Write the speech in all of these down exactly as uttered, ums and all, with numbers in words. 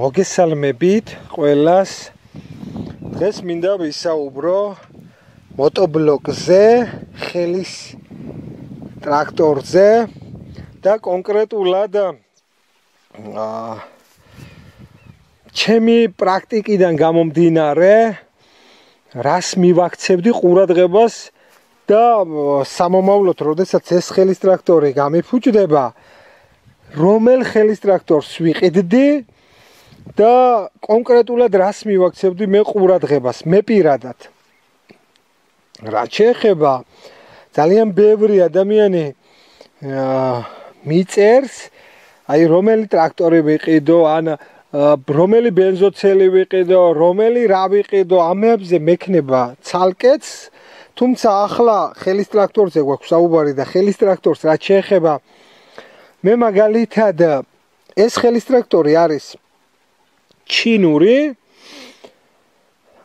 მოგესალმებით ყველას. დღეს მინდა ვისაუბრო მოტობლოკზე, ხელის ტრაქტორზე და კონკრეტულად აა ჩემი პრაქტიკიდან გამომდინარე, რას მივაქცევდი ყურადღებას და სამომავლოდ, როდესაც ეს ხელის ტრაქტორი გამიფუჭდება, რომელ ხელის ტრაქტორს ვიყიდდი და კონკრეტულად რას მივაქცევდი მე ყურადღებას, მე პირადად. რაც შეეხება ძალიან ბევრი ადამიანი მიწერს, აი რომელი ტრაქტორი ვიყიდო, ან რომელი ბენზოცელი ვიყიდო, რომელი რა ვიყიდო, ამებზე მექნება ცალკეც, თუმცა ახლა ხელის ტრაქტორზე გვაქვს საუბარი და ხელის ტრაქტორს რაც შეეხება, მე მაგალითად ეს ხელის ტრაქტორი არის ჩინური,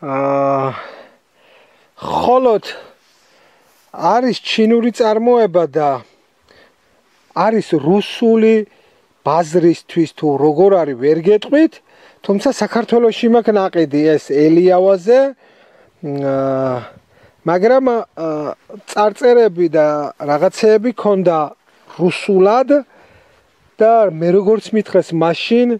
აა ხოლოდ არის ჩინური წარმოება და არის რუსული ბაზრისთვის თუ როგორ არის ვერ გეტყვით, თუმცა საქართველოში მაქვს ნაყიდი ეს ელიავაზე, მაგრამ წარწერები და რაღაცეები ქონდა რუსულად და მე როგორც მითხრეს მაშინ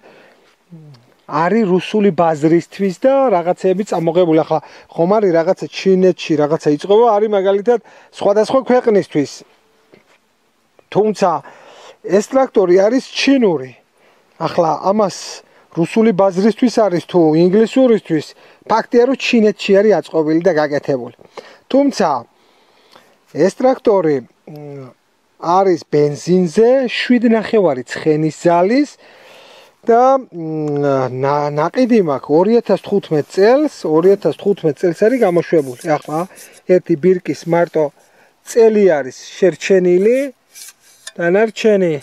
არის რუსული ბაზრისთვის და რაღაცეები წამოღებული. ახლა ხომ არის რაღაცა ჩინეთში რაღაცა იწყება, არის მაგალითად სხვადასხვა ქვეყნისთვის. თუმცა ეს ტრაქტორი არის ჩინური. ახლა ამას რუსული ბაზრისთვის არის თუ ინგლისურისთვის, ფაქტია რომ ჩინეთში არის აწყობილი და გაკეთებული. თუმცა ეს ტრაქტორი არის ბენზინზე, შვიდ ნახევარი ცხენის ძალის და ნაყიდი მაქვს ორი ათას თხუთმეტ წელს, ორი ათას თხუთმეტ წელს არის გამოშვებული. ახლა ერთი ბირკის მარტო წელი არის შერჩენილი, დანარჩენი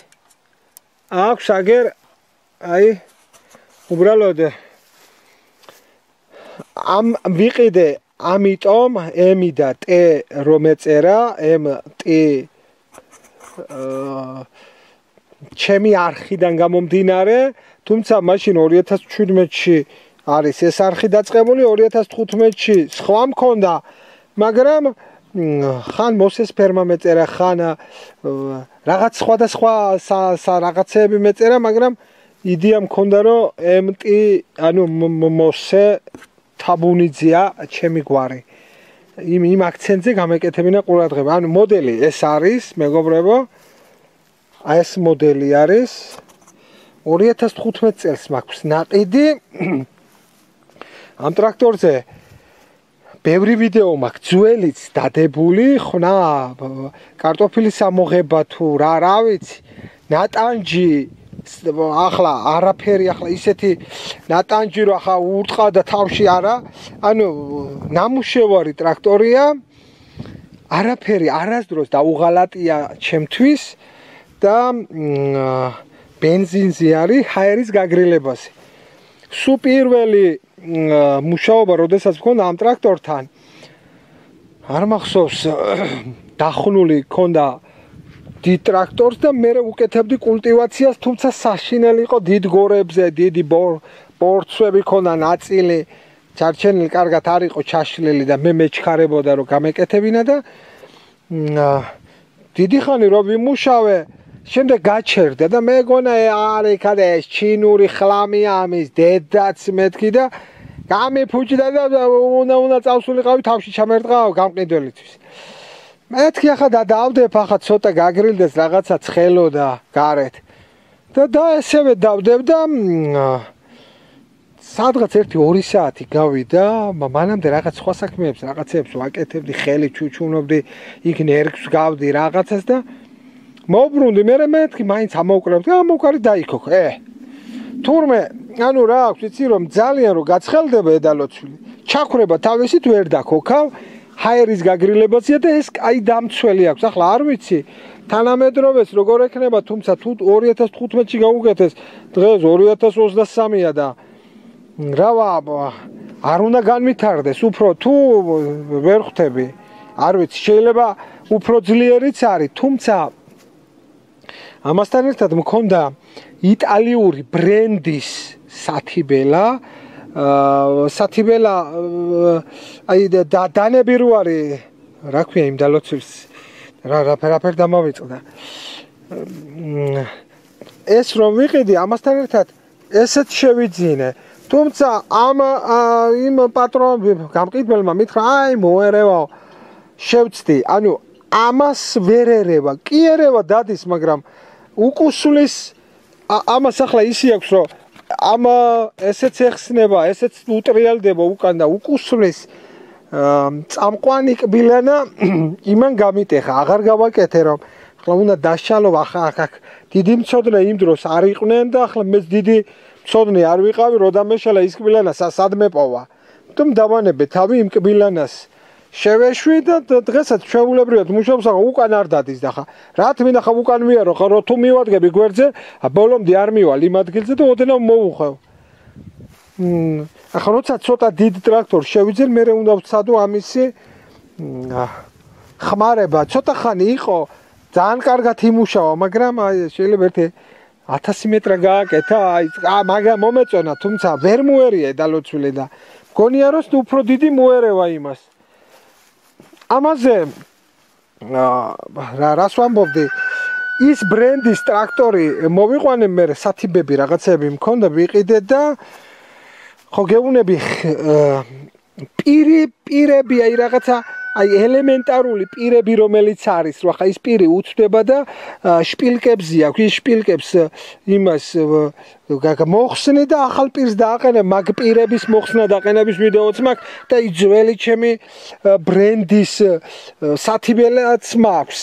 აქვს აგერ აი უბრალოდ ამ ვიყიდე, ამიტომ M და T რომ ეწერა, M T ჩემი არხიდან გამომდინარე, თუმცა მაშინ ორი ათას შვიდმეტში არის ეს არხი დაწყებული, ორი ათას თხუთმეტში სხვა მქონდა, მაგრამ ხან მოსეს ფერმა მეწერა, ხან რაღაც სხვადასხვა რაღაცეები მეწერა, მაგრამ იდეა მქონდა რომ M T, ანუ მოსე თაბუნიძეა ჩემი გვარი. იმ იმ აქცენტზე გამეკეთებინა ყურადღება. ანუ მოდელი ეს არის, მეგობრებო, აი ეს მოდელი არის. ორი ათას თხუთმეტ წელს მაქვს ნაყიდი. ამ ტრაქტორზე ბევრი ვიდეო მაქვს, ძველიც დადებული, ხნა კარტოფილის ამოღება თუ რა რა ვიცი, ნატანჯი ახლა არაფერი, ახლა ისეთი ნატანჯი რომ ახლა ურტყავდა თავში არა, ანუ ნამუშევარი ტრაქტორია, არაფერი არასდროს დაუღალატია ჩემთვის და ბენზინზე არის ჰაერის გაგრილებაზე. სულ პირველი მუშაობა, როდესაც მქონდა ამ ტრაქტორთან, არ მახსოვს, დახნული ქონდა დიდ ტრაქტორს და მე უკეთებდი კულტივაციას, თუმცა საშინელი იყო დიდ გორებზე, დიდი ბორცვები ქონდა ნაწილი, ჩარჩენილი კარგად არ იყო ჩაშლილი და მე მეჩქარებოდა რომ გამეკეთებინა და დიდი ხანი რომ ვიმუშავე, შემდეგ გაჩერდა და მეგონა არ იქადა ეს ჩინური ხლამია ამის დედაც მეთქი და გამიფუჭდა და უნდა უნდა წავსულიყავი თავში ჩამერტყავ გამყიდველისთვის. მეთქი ახლა და დავდებ, ახლა ცოტა გაგრილდეს რაღაცა ცხელოდა გარეთ და და ესევე დავდებ და სადღაც ერთი ორი საათი გავიდა, მანამდე რაღაც სხვა საქმეებს, რაღაცებს ვაკეთებდი, ხელი ჩუჩუნობდი, იქ ნერგს გავდი რაღაცას და მოვბრუნდი, მე მეთქი მაინც ამოვკრავდი, ამოვკარი დაიქოქ. ე თურმე, ანუ რა აქვს, იცი რომ ძალიან რომ გაცხელდება ედალოცვილი, ჩაქვრება თავისით ვერ დაქოქავ, ჰაერის გაგრილებაზეა და ეს აი დამცველი აქვს. ახლა არ ვიცი თანამედროვეს როგორ ექნება, თუმცა თუ ორი ათას თხუთმეტში გაუკეთეს, დღეს ორი ათას ოცდასამია და რავა არ უნდა განვითარდეს უფრო თუ ვერ ხვდები, არ ვიცი, შეიძლება უფრო ძლიერიც არის, თუმცა ამასთან ერთად მქონდა იტალიური ბრენდის სათიბელა სათიბელა აი დანები რო არის რა ქვია იმ დალოცვის რა რაფერ დამავიწყდა ეს რომ ვიყიდი ამასთან ერთად ესეც შევიძინე თუმცა ამ იმ პატრონს გამყიდველმა მითხრა აი მოერევაო შევწდი ანუ ამას ვერ ერევა კი ერევა დადის მაგრამ უკუსulis ამას ახლა ისი აქვს რომ ამ ესეც ეხსნება ესეც უტრიალდება უკან და უკუსulis წამყვანი კბილანა იმან გამიტეხა აღარ გავაკეთე რომ ახლა უნდა დაშალო ახლა აქ დიდი მწოდნე იმ დროს არ იყვნენ და ახლა მეც დიდი მწოდნე არ ვიყავი რო დამეშალა ის კბილანა სად მეპოვა თუმ დავანებე თავი იმ კბილანას შევეშვი და დღესაც ჩვეულებრივად მუშაობს ახლა უკან არ დადის და ხა რა თქმა ხა უკან მიარო ხა რო თუ მივადგები გვერდზე ბოლომდე არ მივალ იმ ადგილზე და ოდნავ მოუხევ ახლა როცა ცოტა დიდ ტრაქტორს შევიძენ მე უნდა ვცადო ამისი ხმარება ცოტა ხანი იყო ძალიან კარგად იმუშავა მაგრამ აი შეიძლება ერთი ათასი მეტრა გააკეთა აი მაგრამ მომეწონა თუმცა ვერ მოერია დალოცვილი და მგონია რომ უფრო დიდი მოერევა იმას ამაზე რა რას ვამბობდი ის ბრენდის ტრაქტორი მოვიყვანე მე სათიბები რაღაცები მქონდა ვიყიდე და ხო გეუბნები პირი პირები აი რაღაცა აი ელემენტარული პირები რომელიც არის რა ხა ის პირი უცდება და შპილკებზე აქვს ის შპილკებს იმას მოხსნე და ახალ პირს დააყენე მაგ პირების მოხსნა დაყენების ვიდეოც მაქვს და ის ძველი ჩემი ბრენდის სათიბელაც მაქვს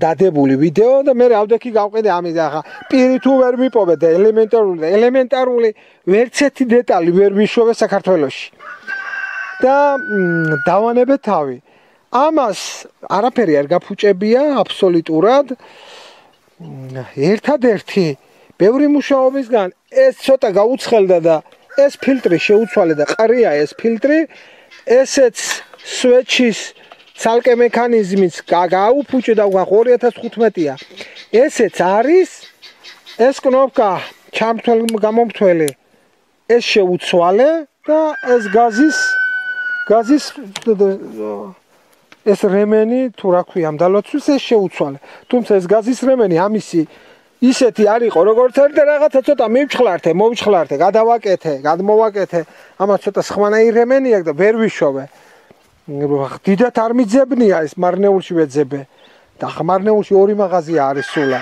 დადებული ვიდეო და მე ავდექი გავყიდე ამის ახლა პირი თუ ვერ მიპოვე და ელემენტარული ელემენტარული ვერცერთი დეტალი ვერ ვიშვევე საქართველოში და დავანებე თავი ამას არაფერი არ გაფუჭებია აბსოლუტურად ერთადერთი ბევრი მუშაობისგან ეს ცოტა გაუცხელდა და ეს ფილტრი შეუცვალე და ყრია ეს ფილტრი ესეც სვეჩის ცალკე მექანიზმიც გააუფუჭე და ორი ათას თხუთმეტია ესეც არის ეს კნოპკა ჩამთვალ გამომთველი ეს შეუცვალე და ეს გაზის გაზის ეს რემენი თუ რა ქვია ამ დალოცვის ეს შეუცვალე თუმცა ეს გაზის რემენი ამისი ისეთი არ იყო როგორც არის და რაღაცა ცოტა მივჩხლართე მოვჩხლართე გადავაკეთე გადმოვაკეთე ამას ცოტა სხვანაირი რემენი აქვს და ვერ ვიშოვე დიდათ არ მიძებნია ეს მარნეულში ვეძებე და ხა მარნეულში ორი მაღაზია არის სულა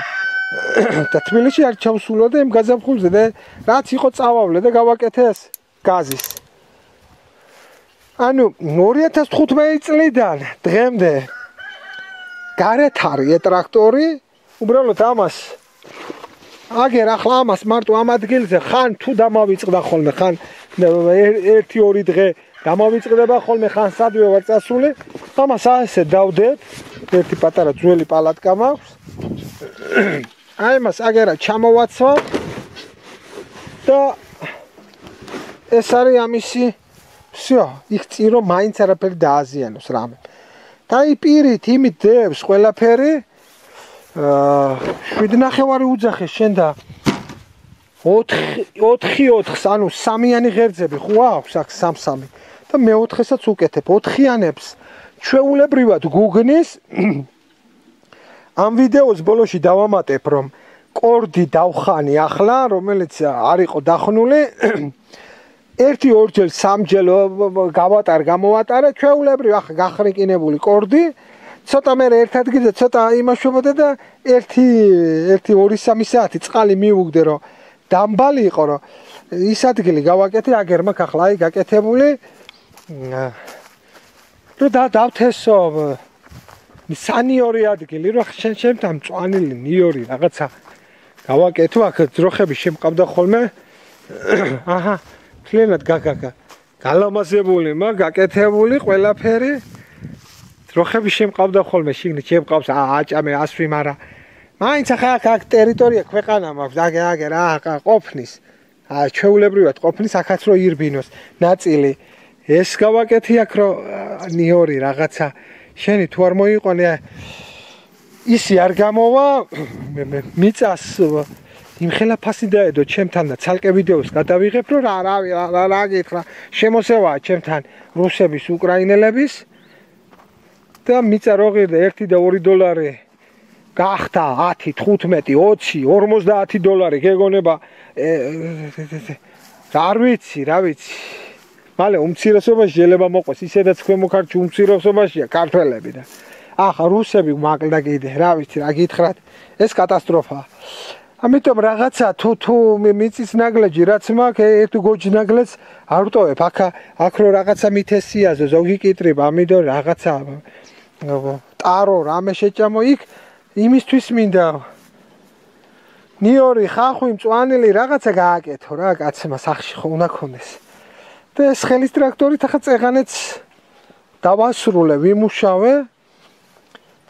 და თბილისში არ ჩავსულა და იმ გაზაფხულზე და რაც იყო წავავლე და გავაკეთე ეს გაზის ანუ ორი ათას თხუთმეტი წლიდან დღემდე გარეთ არის ტრაქტორი უბრალოდ ამას აგერ ახლა ამას მარტო ამ ადგილზე ხან თუ დამავიწყდა ხოლმე ხან ერთი ორი დღე დამავიწყდება ხოლმე ხან სადვე ვარ წასული ამას ასე დავდეთ ერთი პატარა ძველი პალატკა მაქვს აი მას აგერა ჩამოვაცვა და ეს არის ამისი всё, იქ წირო მაინც არაფერი დააზიანოს რამე. და აი პირით იმით დევს ყველაფერი აა შვიდი ნახევარი უძახე შენ და ოთხი ოთხს ანუ სამიანი ღერძები ხო აქვს აქ სამ-სამი და მეოთხესაც უკეთებ ოთხიანებს ჩვეულებრივად გუგნის ამ ვიდეოს ბოლოში დავამატებ რომ კორდი დავხანი ახლა რომელიც არ იყო დახნული ერთი ორჯერ სამჯერ გავატარ გამოვატარე ჩვეულებრივ ახლა გახრიკინებული კორდი ცოტა მე ერთ ადგილზე ცოტა იმაშვებოდა და ერთი ერთი ორი სამი საათი წყალი მიუგდე რომ დამბალი იყო რომ ის ადგილი გავაკეთე აგერ მაქვს ახლა აი გაკეთებული რომ და დავთესო სანიორი ადგილი რომ შენ შემთან მწვანილი ნიორი რაღაცა გავაკეთო აქ ძროხები შემყავდა ხოლმე აჰა ფლენად გაგაგა გალამაზებული მაგ გაკეთებული ყველაფერი ძროხები შემყავდა ხოლმე შიგნით შემყავს აჭამე ასვი მაგრამ მაინც ახლა აქ ტერიტორია ქვეყანა მაქვს აგე აგე რა ყოფნის ა ჩვეულებრივად ყოფნის აქაც რო ირბინოს ნაწილი ეს გავაკეთე აქ რო ნიორი რაღაცა შენი თუ არ მოიყვანე ისი არ გამოვა მიწას იმ ხელაფასი დაედო ჩემთან და ცალკე ვიდეოს გადავიღებ რომ რა რა რა გითხრა შემოსევაა ჩემთან რუსების უკრაინელების და მიწა რო ღირდა ერთი და ორი დოლარი გახდა ათი თხუთმეტი ოცი ორმოცდაათი დოლარი გეგონება არ ვიცი რა ვიცი მალე უმცირესობაში შეიძლება მოყვეს ისედაც ქვემო ქართლში უმცირესობაშია ქართველები და ახლა რუსები მაკლდა კიდე რა ვიცი რა გითხრათ ეს კატასტროფაა ამიტომ რაღაცა თუ თუ მიწის ნაგლეჯი რაც მაქვს ერთ გოჯ ნაგლეჯს არ ვტოვებ აქ აქ რო რაღაცა მითესიაზე ზოგი კიტრიბ ამიტომ რაღაცა ტარო რამე შეჭამო იქ იმისთვის მინდა ნიორი ხახვი მწვანილი რაღაცა გააკეთო რა კაცმა სახში ხო უნდა ქონდეს და ეს ხელის ტრაქტორით ახლა წეღანეც დავასრულე ვიმუშავე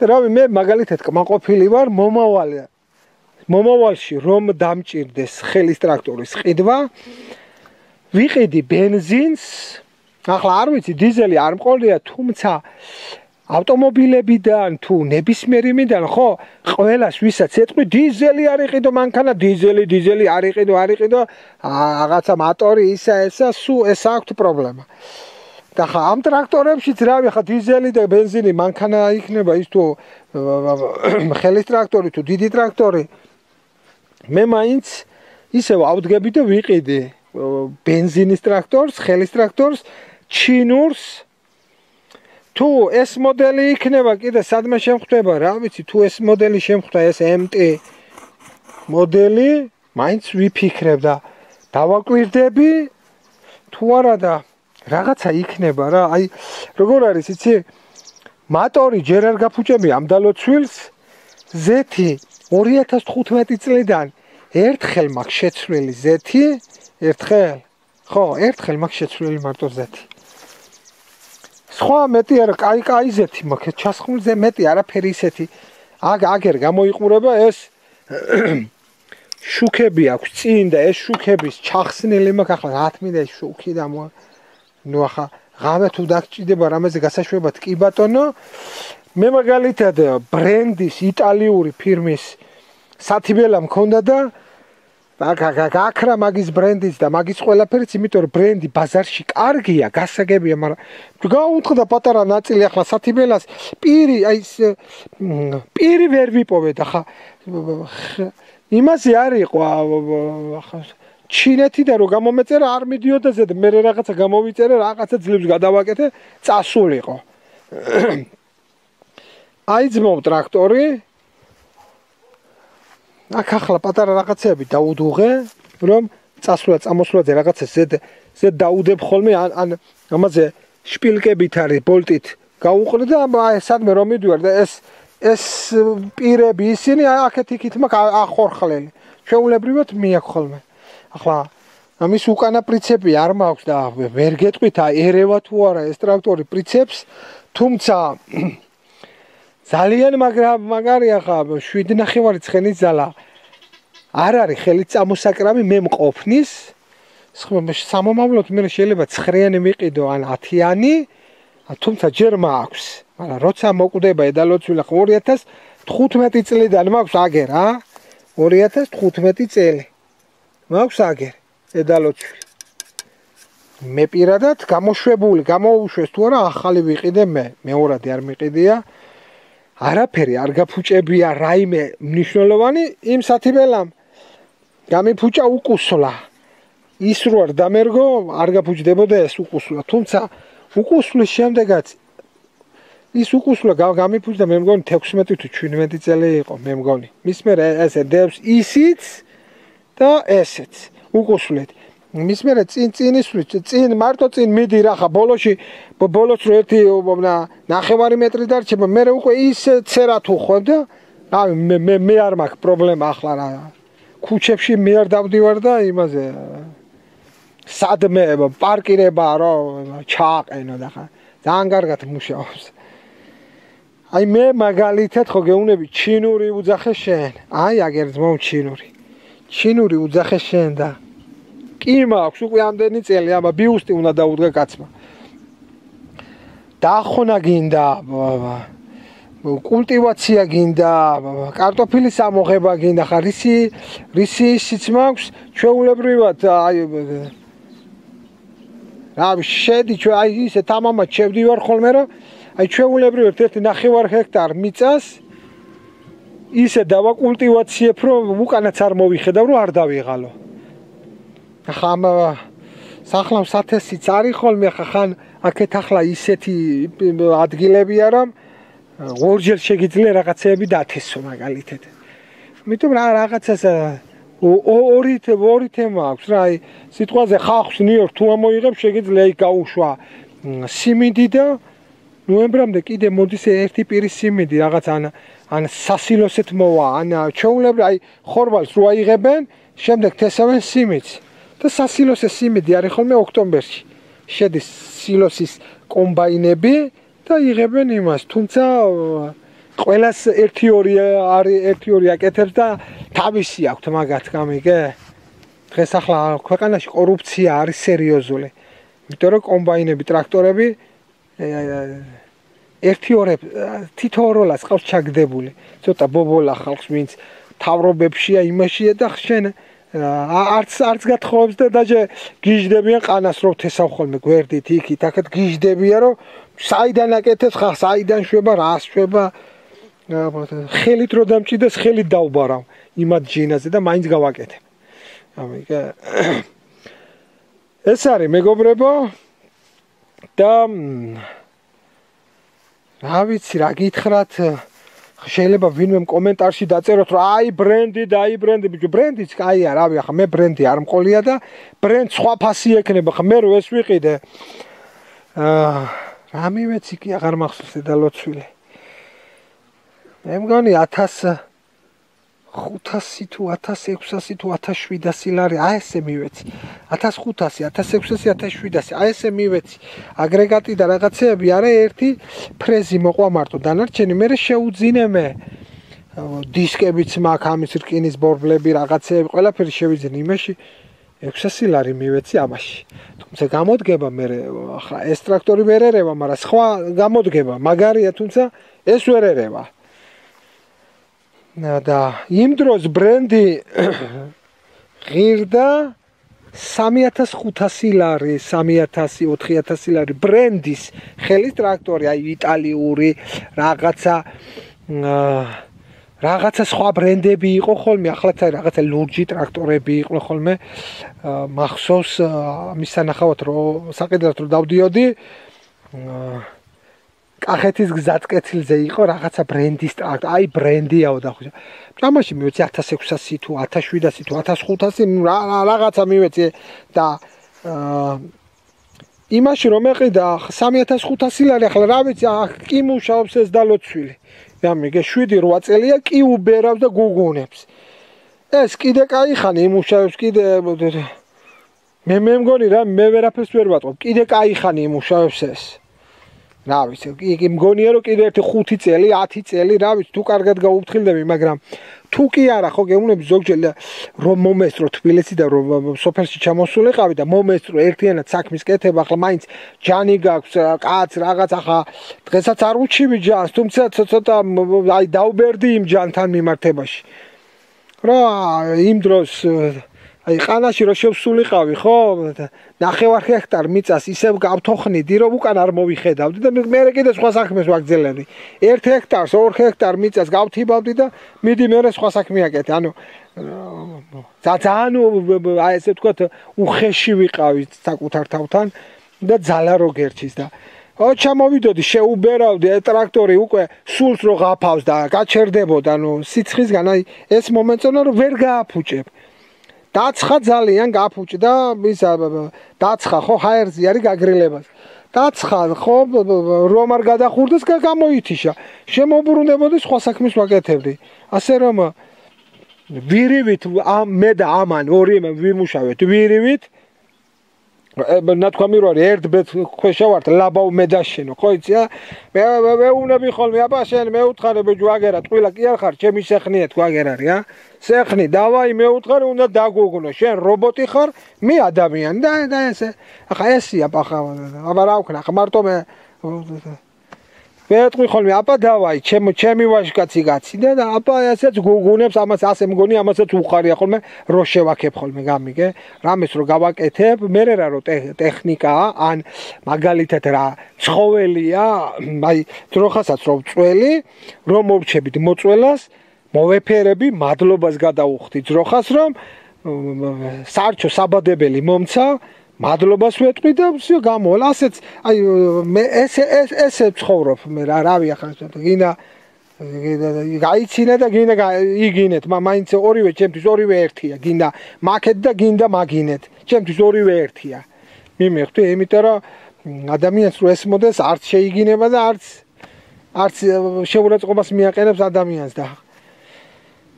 და რავი მე მაგალითად კმაყოფილი ვარ მომავალი მომავალში რომ დამჭირდეს ხელის ტრაქტორის ყიდვა ვიყიდი ბენზინს ახლა არ ვიცი დიზელი არ მყოლია თუმცა ავტომობილებიდან თუ ნებისმიერიმიდან ხო ყველას ვისაც ეტყვი დიზელი არ იყიდო მანქანა დიზელი დიზელი არ იყიდო არ იყიდო რაღაცა მოტორი ისა ესა სუ ეს აქვს პრობლემა და ხა ამ ტრაქტორებშიც რავი ხა დიზელი და ბენზინი მანქანა იქნება ის თუ ხელის ტრაქტორი თუ დიდი ტრაქტორი მე მაინც ისევ ავდგები და ვიყიდი ბენზინის ტრაქტორს ხელის ტრაქტორს ჩინურს თუ ეს მოდელი იქნება კიდე სადმე შემხვდება რა ვიცი თუ ეს მოდელი შემხვდა ეს ემ ტი მოდელი მაინც ვიფიქრებ და დავაკვირდები თუ არა და რაღაცა იქნება რა აი როგორ არის იცი მოტორი ჯერ არ გაფუჭები ამ დალოცვილს ზეთი ორი ათას თხუთმეტი წლიდან ერთხელ მაქვს შეცვლილი ზეთი ერთხელ ხო ერთხელ მაქვს შეცვლილი მარტო ზეთი სხვა მეტი არა კაი კაი ზეთი მაქვს ჩასხმულზე მეტი არაფერი ისეთი აგ აგერ გამოიყურება ეს შუქები აქვს წინ და ეს შუქების ჩახსნილი მაქვს ახლა რა თქმა უნდა შუქი და ნუ ახლა ღამე თუ დაგჭირდება რამეზე გასაშვებად კი ბატონო მე მაგალითად ბრენდის იტალიური ფირმის სათიბელა მქონდა და გაქრა მაგის ბრენდის და მაგის ყველაფერიც იმიტომ რომ ბრენდი ბაზარში კარგია გასაგებია მაგრამ გაუთხდა პატარა ნაწილი ახლა სათიბელას პირი აი პირი ვერ ვიპოვეთ ახლა იმაზე არ იყო ახლა ჩინეთიდან რომ გამომეწერა არ მიდიოდა ზედ მე რაღაცა გამოვიწერე რაღაცა ძლებს გადავაკეთე წასულიყო აი ძმო ტრაქტორი აქ ახლა პატარა რაღაცები დაუდუღე რომ წასვლა წამოსვლაზე რაღაცა ზედ ზედ დაუდებ ხოლმე ან ამაზე შპილკებით არის ბოლტით გაუყრე და აი სადმე რომ მიდივარ და ეს ეს პირები ისინი აქეთ იქით მაქვს ახორხლელი შეულებრივად მიაქვს ხოლმე ახლა ამის უკანა პრინციპი არ მაქვს და ვერ გეტყვით აი ერევა თუ არა ეს ტრაქტორი პრინციპს თუმცა ძალიან მაგარია ხა შვიდ ნახევარი ცხენის ძალა არ არის ხელით წამოსაკრავი მე მყოფნის სამომავლოდ მე შეიძლება ცხრიანი მიყიდო ან ათიანი თუმცა ჯერ მაქვს მაგრამ როცა მოკვდება ედალოცვილი ხო ორი ათას თხუთმეტი წლიდან მაქვს აგერ ა ორი ათას თხუთმეტი წელი მაქვს აგერ ედალოცვილი მე პირადად გამოშვებული გამოუშვეს თუ არა ახალი ვიყიდე მე მეორადი არ მიყიდია არაფერი არ გაფუჭებია რაიმე მნიშვნელოვანი იმ სათიბელამ გამიფუჭა უკუსლა ის რო არ დამერგო არ გაფუჭდებოდა ეს უკუსლა თუმცა უკუსლის შემდეგაც ის უკუსლა გამიფუჭდა მე მგონი თექვსმეტი თუ შვიდმეტი წელი იყო მე მგონი მის მერე ესე დევს ისიც და ესეც უკუსლეთ მის მერე წინ წინისთვის წინ მარტო წინ მიდი რა ხა ბოლოში ბოლოს რო ერთი ნახევარი მეტრი დარჩება მე უკვე ის ცერა თუ ხო და აი მე მე მე არ მაქვს პრობლემა ახლა რა ქუჩებში მე არ დავდივარ და იმაზე სადმე პარკირება რა ჩააყენო და ხა ძალიან კარგად მუშაობს აი მე მაგალითად ხო გეუნები ჩინური უძახე შენ აი აგერ ძმო ჩინური ჩინური უძახე შენ და კი მაქვს უკვე ამდენი წელი ამა ბიუსტი უნდა დაუდგა კაცმა დაახონა გინდა კულტივაცია გინდა, კარტოფილის ამოღება გინდა, ხა რისი რისი ისიც მაქვს, ჩვეულებრივად აი რა შედი ჩვენ აი ისე თამამად შევდივარ ხოლმე რომ აი ჩვეულებრივად ერთი ნახევარ ჰექტარ მიწას ისე დავაკულტივაციებ რომ უკანაც არ მოვიხედავ რომ არ დავიღალო. ახლა ამ სახლავს ათასიც არის ხოლმე ხა ხან აქეთ ახლა ისეთი ადგილებია რომ ორჯერ შეგიძლია რაღაცეები დათესო მაგალითად. მიტომ რა რაღაცას ორი ორი თემა აქვს რა აი სიტყვაზე ხახს ნიორ თუ ამოიღებ შეგიძლია იქ გაუშვა სიმინდი და ნოემბრამდე კიდე მოდის ერთი პირის სიმინდი რაღაც ან ან სასილოსეთ მოვა ან ჩვეულებრივ აი ხორბალს რო აიღებენ შემდეგ თესავენ სიმინდს და სასილოსე სიმინდი არის ხოლმე ოქტომბერში შედის სილოსის კომბაინები და იღებენ იმას თუმცა ყველას ერთი ორი არის ერთი ორი აკეთებს და თავისი აქვს მაგათ გამიგე დღეს ახლა ქვეყანაში კორუფცია არის სერიოზული იმიტომ რომ კომბაინები ტრაქტორები ერთი ორ თითო როლას ყავს ჩაგდებული ცოტა ბობოლა ხალხს ვინც თავრობებშია იმაშია და შენ არც არც გათხოვებს და დაჟე გიჟდებიან ყანას რო თესავ ხოლმე გვერდით იქით აქეთ გიჟდებიან რომ საიდან აკეთებს ხა საიდან შვება რას შვება ხელით რო დამჭიდეს ხელით დავბარავ იმად ჯინაზე და მაინც გავაკეთებ ამიგე ეს არის მეგობრებო და რა ვიცი რა გითხრათ შეიძლება ვინმე კომენტარში დაწეროთ რომ აი ბრენდი და აი ბრენდი ბიჭო ბრენდიც კაია რავი ახლა მე ბრენდი არ მყოლია და ბრენდ სხვა ფასი ექნება ხა მე რო ეს ვიყიდე აა რა მივეცი კი აღარ მახსოვს და ლოცვილი მე მგონი ათას ხუთასი თუ ათას ექვსასი თუ ათას შვიდასი ლარი აი ესე მივეცი ათას ხუთასი ათას ექვსასი ათას შვიდასი აი ესე მივეცი აგრეგატი და რაღაცეები არა ერთი ფრეზი მოყვა მარტო დანარჩენი მე შეუძინე მე დისკებიც მაქვს ამის რკინის ბორბლები რაღაცეები ყველაფერი შევიძინე იმაში ექვსასი ლარი მივეცი ამაში თუმცა გამოდგება მე ახლა ეს ტრაქტორი ვერ ერევა მაგრამ სხვა გამოდგება მაგარია თუმცა ეს ვერ ერევა და იმ დროს ბრენდი ღირდა სამი ათას ხუთასი ლარი სამი ათასი ოთხი ათასი ლარი ბრენდის ხელის ტრაქტორი აი იტალიური რაღაცა რაღაცა სხვა ბრენდები იყო ხოლმე ახლაც რაღაცა ლურჯი ტრაქტორები იყო ხოლმე მახსოვს ამის სანახავად რომ საყიდლად რომ დავდიოდი კახეთის გზატკეცილზე იყო რაღაცა ბრენდის ტრაქტორი აი ბრენდიაო და ხო ამაში მივეცი ათას ექვსასი თუ ათას შვიდასი თუ ათას ხუთასი რაღაცა მივეცი და იმაში რომ ეყიდა სამი ათას ხუთასი ლარი ახლა რა ვიცი კი მუშაობს ეს დალოცვილი გამიგე შვიდი რვა წელია კი უბერავს და გუგუნებს ეს კიდე კაი ხანი იმუშავებს კიდე მე მე მგონი რა მე ვერაფერს ვერ ვატყობ კიდე კაი ხანი იმუშავებს ეს რა ვიცი იგი მგონია რომ კიდე ერთი ხუთი წელი ათი წელი რა ვიცი თუ კარგად გაუფრთხილდები მაგრამ თუ კი არა ხო გეუბნები ზოგჯერ რომ მომესწრო თბილისი და რომ სოფელში ჩამოსულიყავი და მომესწრო ერთიანად საქმის კეთება ახლა მაინც ჯანი გაქვს კაც რაღაც ახლა დღესაც არ უჩივი ჯანს თუმცა ცოტა აი დაუბერდი იმ ჯანთან მიმართებაში რა იმ დროს აი ყანაში რო შევსულიყავი ხო ნახევარ ჰექტარ მიწას ისევ გავთოხნიდი რომ უკან არ მოვიხედავდი და მე კიდე სხვა საქმეს ვაგრძელებდი ერთ ჰექტარს ორ ჰექტარ მიწას გავთიბავდი და მიდი მე სხვა საქმე აკეთე ანუ ძალიან აი ესე ვთქვათ უხეში ვიყავი საკუთარ თავთან და ძალა რო გერჩის და ო ჩამოვიდოდი შეუბერავდი ტრაქტორი უკვე სულს რო ღაფავს და გაჩერდებოდა ნუ სიცხისგან აი ეს მომენტონა რომ ვერ გააფუჭებ დაცხა ძალიან გაფუჭდა ისა დაცხა ხო ჰაერზე არის გაგრილებას დაცხა ხო რომ არ გადახურდეს გამოითიშა შემოbrunდებოდი სხვა საქმეს ვაკეთებდი ასე რომ ვირივით მე და ამან ორი ვიმუშავეთ ვირივით ნათქვამი რო არის ერთ ბეთ ქვეშა ვართ ლაბაო მე დაშენო ხო იცი მე მეუნები ხოლმე აბა შენ მეუთხარი ბიჭო აგერა ტყილა კი არ ხარ ჩემი სეხნია თუ აგერ არის ა სეხნი დავაი მეუთხარი უნდა დაგუგნო შენ რობოტი ხარ მე ადამიანი და და ესე ახლა ესია ახლა აბა რა ვქნა ახლა მარტო მე ვეტყვი ხოლმე აბა დავაი ჩემ ჩემი ვაჟკაცი გაციდა და აბა ესეც გუგუნებს ამას ასე მგონი ამასაც უხარია ხოლმე რო შევაქებ ხოლმე გამიგე რამეს რო გავაკეთებ მე რა რო ტექნიკაა ან მაგალითად რა ცხოველია აი ძროხასაც რო წველი რომ მოვჩებით მოწველას მოვეფერები მადლობას გადაუხდი ძროხას რომ სარჩო საბადებელი მომცა მადლობას ვეტყვი და всё გამოვალ ასეც აი მე ეს ეს ესე ცხოვრობ მე რა რავი ახლა გინდა გაიცინა და გინდა იგინეთ მაინც ორივე ჩემთვის ორივე ერთია გინდა მაკეთ და გინდა მაგინეთ ჩემთვის ორივე ერთია მიმეხვდი იმიტომ რომ ადამიანს რო ეს მოდეს არც შეიგინება და არც არც შეურაცხყოფას მიაყენებს ადამიანს და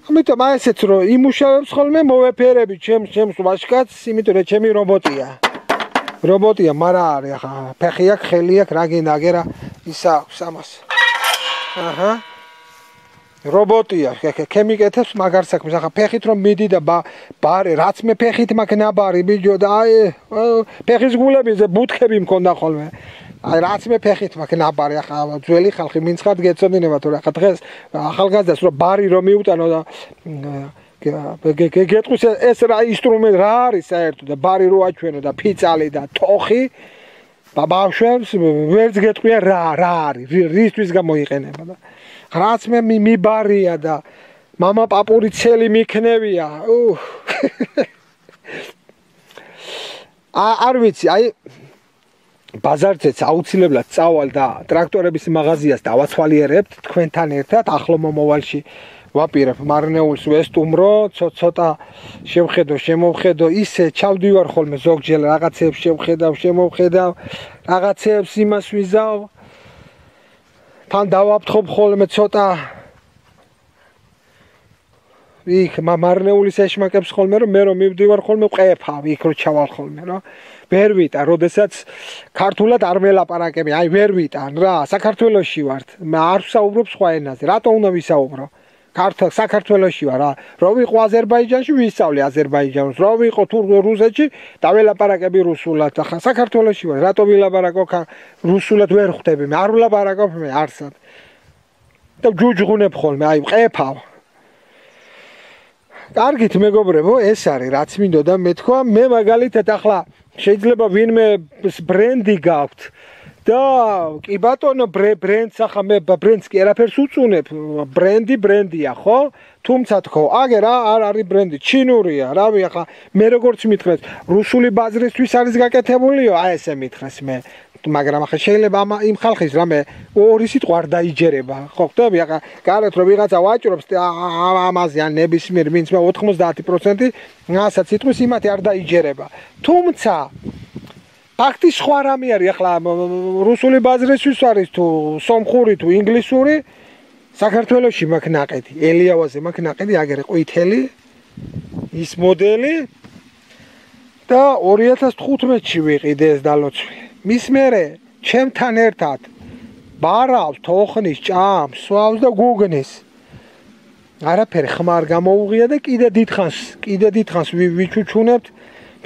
ამიტომ ასეც რო იმუშავებს ხოლმე მოვეფერები ჩემს ჩემს ვაჟკაცს იმიტომ რომ ჩემი რობოტია რობოტია მარა არის ახლა ფეხი აქვს ხელი აქვს რა გინდა აგერა ისა აქვს ამას აჰა რობოტია ქემიკეთებს მაგარ საქმეს ახლა ფეხით რომ მიდი და ბარე რაც მე ფეხით მაქვს ნაბარი ბიჯო და აი ფეხის გულებზე ბუთხები მქონდა ხოლმე აი რაც მე ფეხით მაქვს ნაბარი ახლა ძველი ხალხი მინცხად გეწოდინება თუ ახლა დღეს ახალგაზრდას რომ ბარი რომ მიუტანო და გეტყვის ეს რა ინსტრუმენტი რა არის საერთოდ და ბარი რო აჩვენო და ფიცალი და თოხი ბავშვებს ვერც გეტყვია რა რა არის რისთვის გამოიყენება და რაც მე მიბარია და мама პაპური ცელი მიქნევია არ ვიცი აი ბაზარზეც აუცილებლად წავალ და ტრაქტორების მაღაზიას დავაცვალიერებთ თქვენთან ერთად ახლო მომავალში ვაპირებ მარნეულს ვესტუმრო ცოტა შევხედო შემოვხედო ისე ჩავდივარ ხოლმე ზოგჯერ რაღაცებს შევხედავ შემოვხედავ რაღაცებს იმას ვიზავ თან დავაფრთხობ ხოლმე ცოტა იქ მარნეულის ეშმაკებს ხოლმე რომ მე რომ მივდივარ ხოლმე ყეფავ იქ რო ჩავალ ხოლმე რა ვერ ვიტან როდესაც ქართულად არ მელაპარაკები აი ვერ ვიტან რა საქართველოში ვართ არ ვსაუბრობ სხვა ენაზე რატო უნდა ვისაუბრო ქართულ საქართველოში ვარ რა რო ვიყო აზერბაიჯანში ვისწავლე აზერბაიჯანს რო ვიყო რუსეთში დაველაპარაკები რუსულად ახლა საქართველოში ვარ რატო ვილაპარაკო რუსულად ვერ ხვდები მე არ ვილაპარაკობ მე არსად და ჯუჯღუნებ ხოლმე აი ყეფავ კარგით მეგობრებო ეს არის რაც მინდოდა მეთქვა მე მაგალითად ახლა შეიძლება ვინმე ბრენდი გაქვთ და კი ბატონო ბრენდს ახლა მე ბრენდს კი არაფერს უწუნებ ბრენდი ბრენდია ხო თუმცა თქო აგე რა არ არის ბრენდი ჩინურია რავი ახლა მე როგორც მითხრეს რუსული ბაზრისთვის არის გაკეთებულიო აი ესე მითხრეს მე მაგრამ ახლა შეიძლება ამ იმ ხალხის რამე ორი სიტყვა არ დაიჯერება ხო ხტები ახლა გარეთ რომ ვიღაცა ვაჭრობს ამაზე ან ნებისმიერ ვინც მე ოთხმოცდაათი პროცენტი რასაც სიტყვის იმათი არ დაიჯერება თუმცა ფაქტი სხვა რამე არის ახლა რუსული ბაზრისთვის არის თუ სომხური თუ ინგლისური საქართველოში მაქვს ნაყედი ელიავაზე მაქვს ნაყედი აგერე ყვითელი ის მოდელი და ორი ათას თხუთმეტში ვიყიდე ეს დალოცვი მის მერე ჩემთან ერთად ბარავს თოხნის ჭამს სვავს და გუგნის არაფერი ხმარ გამოუღია და კიდე დიდხანს კიდე დიდხანს ვიჩუჩუნებთ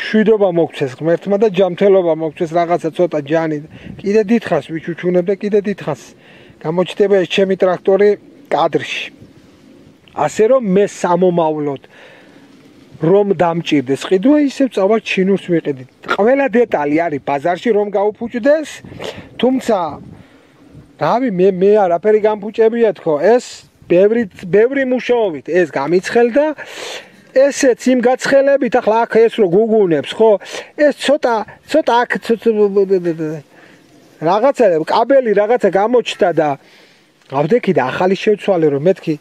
მშვიდობა მოგცეს ღმერთმა და ჯანმრთელობა მოგცეს რაღაცა ცოტა ჯანი კიდე დიდხანს ვიჩუჩუნებ და კიდე დიდხანს გამოჩნდება ეს ჩემი ტრაქტორი კადრში ასე რომ მე სამომავლოდ რომ დამჭირდეს ყიდვა ისევ წავალ ჩინურს ვიყიდით ყველა დეტალი არის ბაზარში რომ გაუფუჭდეს თუმცა რავი მე მე არაფერი გამფუჭებია თქო ეს ბევრი ბევრი მუშაობით ეს გამიცხელდა ესეც იმ გაცხელებით ახლა აქ ეს რო გუგუნებს ხო ეს ცოტა ცოტა აქ რაღაცა კაბელი რაღაცა გამოჩნდა და ავდექი და ახალი შევცვალე რომ მეთქი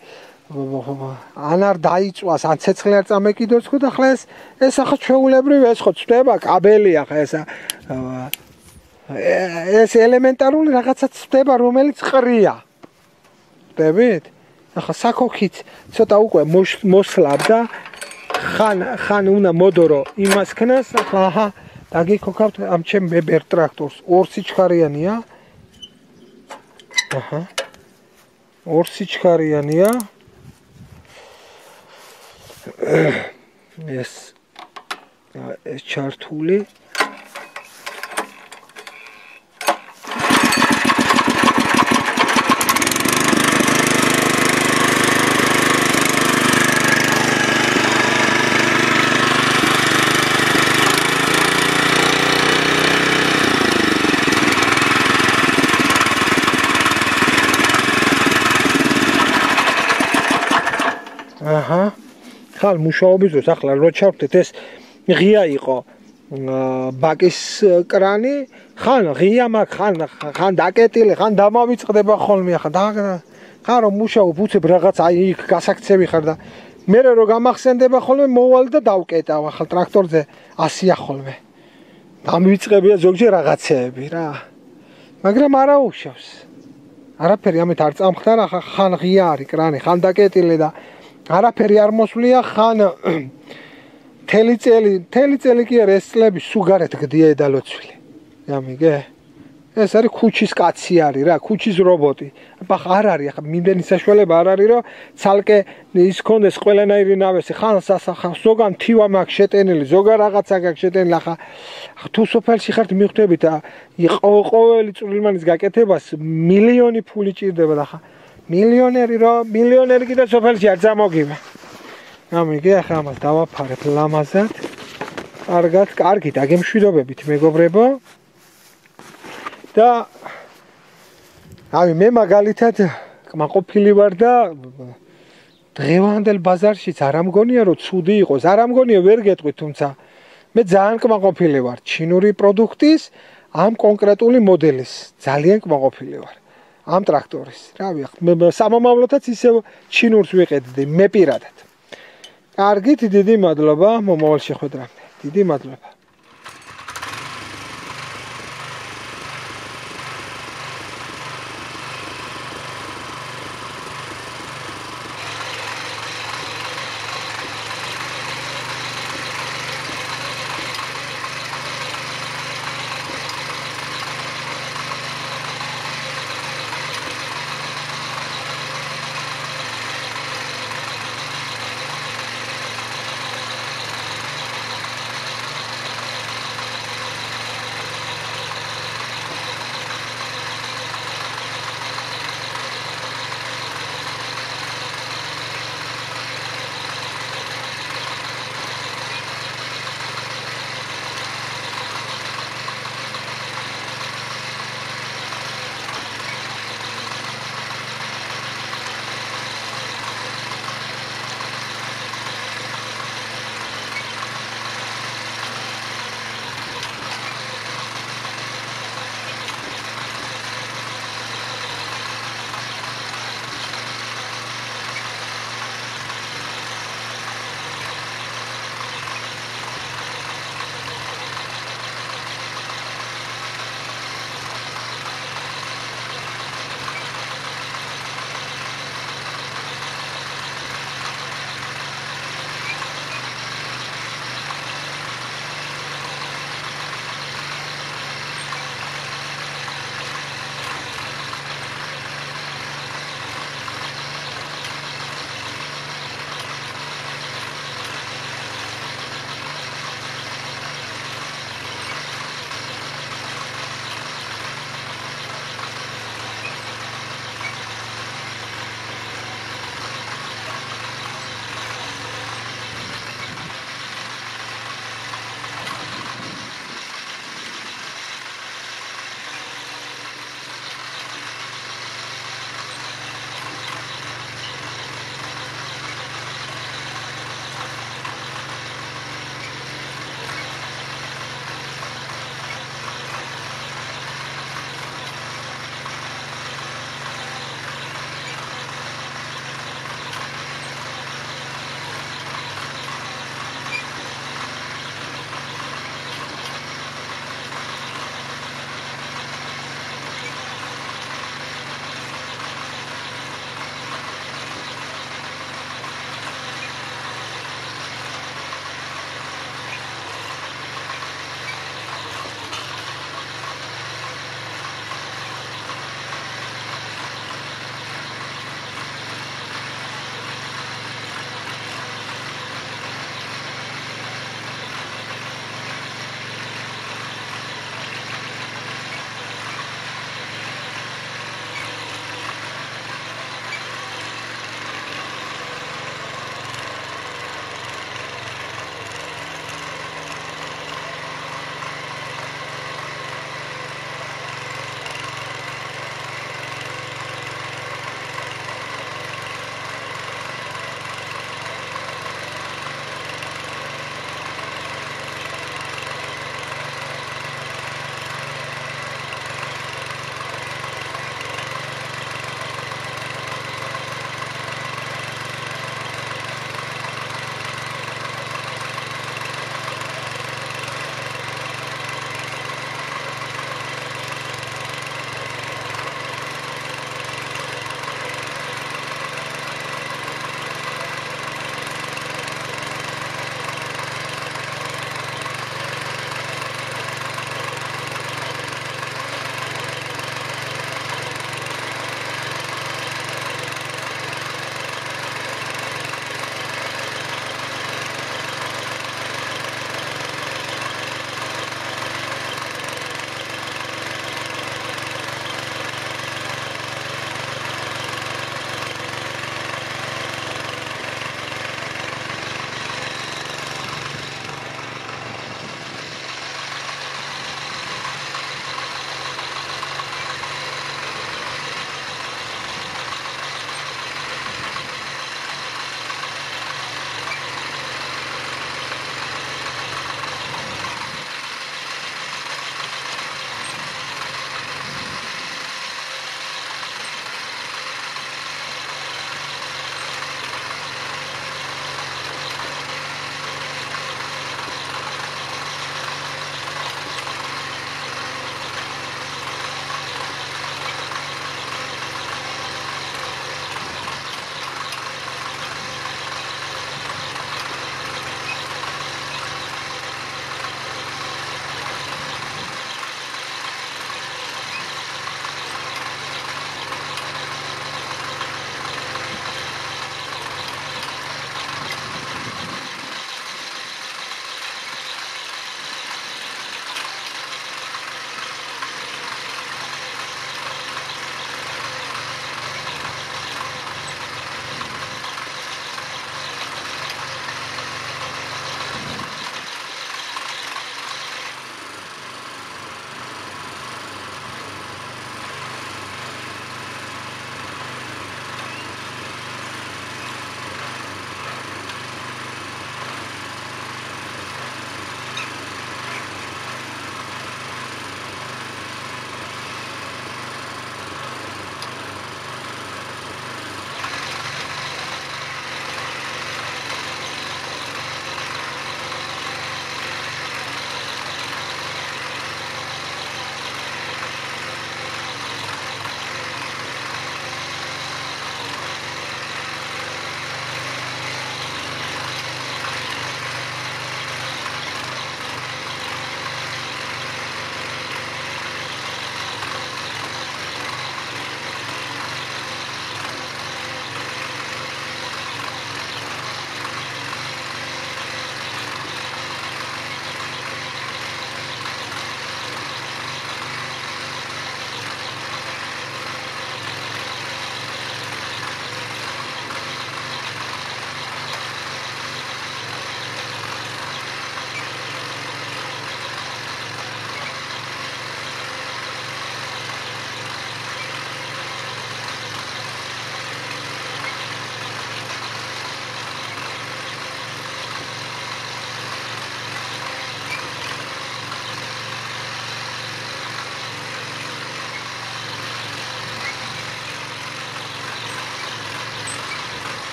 ან არ დაიწვას ან ცეცხლი არ წამეკიდოს ხო და ახლა ეს ეს ახლა ჩვეულებრივ ეს ხო წვდება კაბელი ახლა ეს ეს ელემენტარული რაღაცა წვდება რომელიც ყრია ხდებით ახლა საქოქით ცოტა უკვე მოსლაბ და ხან ხან უნდა მოდორო იმას ქნას ახლა აჰა დაგიქოქავთ ამ ჩემ ბებერ ტრაქტორს ორ სიჩქარიანია აჰა ორ სიჩქარიანია ეს ეს ჩართული აჰა. ხალ მუშაობის დროს ახლა რო ჩავხდეთ ეს ღია იყო ბაკის კრანი, ხან ღია მაგ, ხან ხან დაკეტილი, ხან დამავიწყდება ხოლმე ახლა და ხან რომ მუშაობ უცებ რაღაც აი იქ გასაქცევი ხარ და მე რო გამახსენდება ხოლმე მოვალ და დავკეტავ ახლა ტრაქტორზე ასია ხოლმე. დამივიწყებია ზოგჯერ რაღაცეები რა. მაგრამ არა უშავს. არაფერი ამით არ წამხდარა, ხან ღია არის კრანი, ხან დაკეტილი და არაფერი არ მოსვლია, ხან თელი წელი, თელი წელი კი არა, ეს წლები სუგარეთ გდიედა ლოცვილი. გამიგე? ეს არის ქუჩის კაცი არის რა, ქუჩის რობოტი. აბა არ არის, ახლა მიმდენი საშუალება არ არის, რომ ცალკე ის კონდეს ყველანაირი ნავესი, ხან სასახა, ზოგან თივა მაქვს შეტენილი, ზოგან რაღაცა გაქვს შეტენილი, ახლა თუ სოფელში ხართ მიხვდებით, ყოველი წვრილმანის გაკეთებას მილიონი ფული ჭირდება და ახლა მილიონერი რა, მილიონერი კიდე სოფელში არ წამოგივა. გამიგე, ახლა ამას დავაფარებ ლამაზად. კარგად, კარგი დაგემშვიდობებით მეგობრებო. და აი მე მაგალითად კმაყოფილი ვარ და დღევანდელ ბაზარშიც არ ამგონია რომ ცუდი იყოს, არ ამგონია ვერ გეტყვით, თუმცა მე ძალიან კმაყოფილი ვარ ჩინური პროდუქტის ამ კონკრეტული მოდელის, ძალიან კმაყოფილი ვარ ამ ტრაქტორის. რავი, მე სამომავლოდაც ისევ ჩინურს ვიყიდდი მე პირადად. კარგით, დიდი მადლობა მომავალ შეხვედრამდე. დიდი მადლობა.